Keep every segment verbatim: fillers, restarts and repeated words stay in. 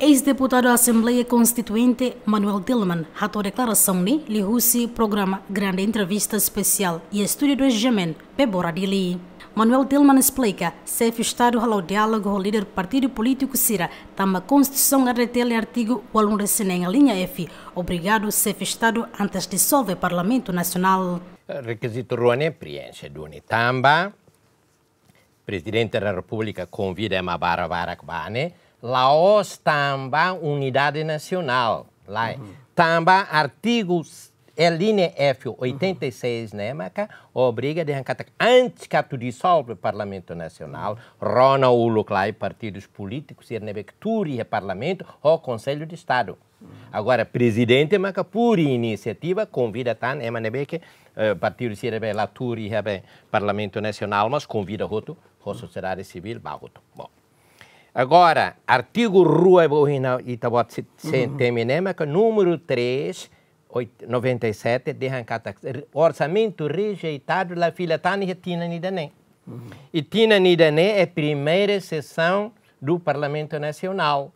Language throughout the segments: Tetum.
Eis-deputadu Asembleia Konstituinte Manuel Tilman hato'o deklarasaun ne'e liuhusi programa Grande Entrevista Espesiál iha estúdiu dois G M N, Bebora Dili. Manuel Tilman esplika, xefe Estadu hala'o diálogu ho líder partidu polítiku sira, tanba Konstituisaun R D T L artigu ualunulu-resin-neen alínea F, obriga xefe Estadu antes disolve Parlamentu Nasionál. Rekizitu rua ne'e preenxe duni tanba Prezidente da Repúblika konvida ema barak-barak ba ne'e, la'ós tanba unidade nasionál, lae. Tanba artigu, é, alínea F oitenta e seis ne'e maka obriga dehan katak antes atu disolve Parlamentu Nasionál, rona uluk lai partidus polítikus sira ne'ebé ke tuur iha Parlamentu ho Konsellu de Estadu. Agora, prezidente maka por inisiativa konvida tan ema ne'ebé ke, eh, partidu sira ne'ebé la tuur iha be Parlamentu Nasionál, mas konvida hotu, ho sosiedade sivíl ba hotu. Bom. Agora, artigu rua, bo hina ita-boot se, se temi ne'e maka númeru três, oit-, noventa e sete, dehan katak orsamentu rejeitadu la fila tan iha tinan ida-ne'e. I tinan ida-ne'e é primeira sessão do Parlamento Nacional.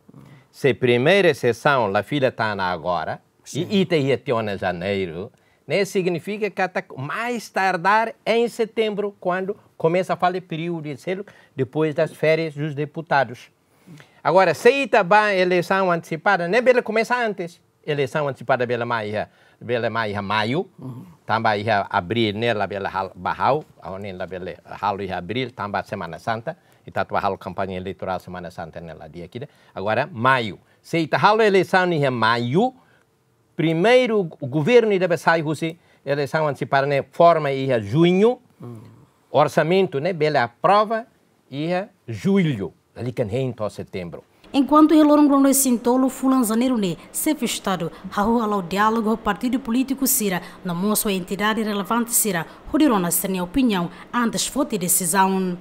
Se primeira sessão la fila tan agora, i ita iha tiha ona janeiru, ne'e signifika katak mais tardar em setembro, quando começa a fali períodu de seluk, depois das férias dos deputados. Agora, se ita ba eleisaun antesipada, ne'e bele komesa antes. Eleisaun antesipada bele mai iha, bele mai iha maiu, tanba iha abríl ne'e labele hal-, ba halo, ha'u hanoin labele halo iha abríl, tanba Semana Santa, ita atu ba halo kampaña eleitorál Semana Santa ne'e la di'ak ida. Agora, maiu. Se ita halo eleisaun iha maiu, primeiru governu ida be sai husi eleisaun antesipada ne'e forma iha juñu, orsamentu ne'e bele aprova iha jullu, lalika hein to'o setembru. Enkuantu iha loron ruanulu-resin-tolu fulan janeiru ne'e, xefe Estadu hahú hala'o diálogu ho partidu polítiku sira, no mós ho entidade relevante sira, hodi rona sira-nia opiniaun antes foti desizaun.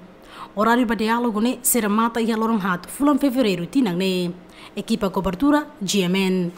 Oráriu ba diálogu ne'e sei remata iha loron haat fulan fevereiru tinan ne'e. Ekipa kobertura, G M N.